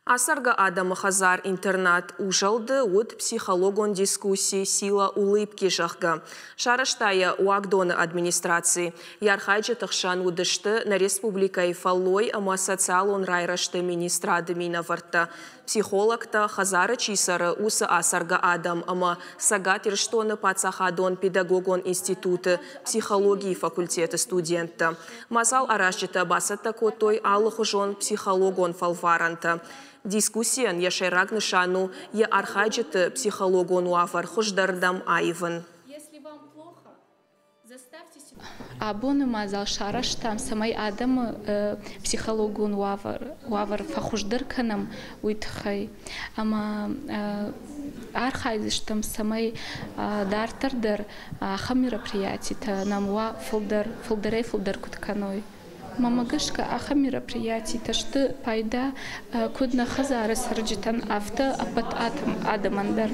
Ацӕргӕ адӕмы хӕдзар-интернат «Узӕлд-ы» уыд психологон дискусси «Сила улыбки», зӕгъгӕ. Сарӕзта йӕ уагдоны администраци. Йӕ архайджыты хсӕн уыдысты нӕ республикӕйы фӕллой ӕмӕ социалон райрӕзты министрады минӕвӕрттӕ, психологтӕ, хӕдзары чи цӕры, уыцы ацӕргӕ адӕм ӕмӕ Цӕгат Ирыстоны паддзахадон педагогон институты психологийы факультеты студенттӕ. Мадзал аразджытӕ бацӕттӕ кодтой алыхуызон психологон фӕлварӕнтӕ. Дискуссийӕн йӕ сӕйраг нысан у йӕ архайджыты психологон уавӕр хуыздӕрдӕм аивын. Абоны мадзал сарӕзтам, цӕмӕй адӕмы психологон уавӕр фӕхуыздӕр кӕнӕм, уый тыххӕй. Ӕмӕ архайдзыстӕм, цӕмӕй дарддӕр дӕр ахӕм мероприятитӕ нӕм уа фылдӕр, фылдӕрӕй-фылдӕр куыд кӕной. Мӕнмӕ гӕсгӕ, ахӕм мероприятитӕ сты пайда куыд нӕ хӕдзары цӕрджытӕн, афтӕ ӕппӕт адӕмӕн дӕр.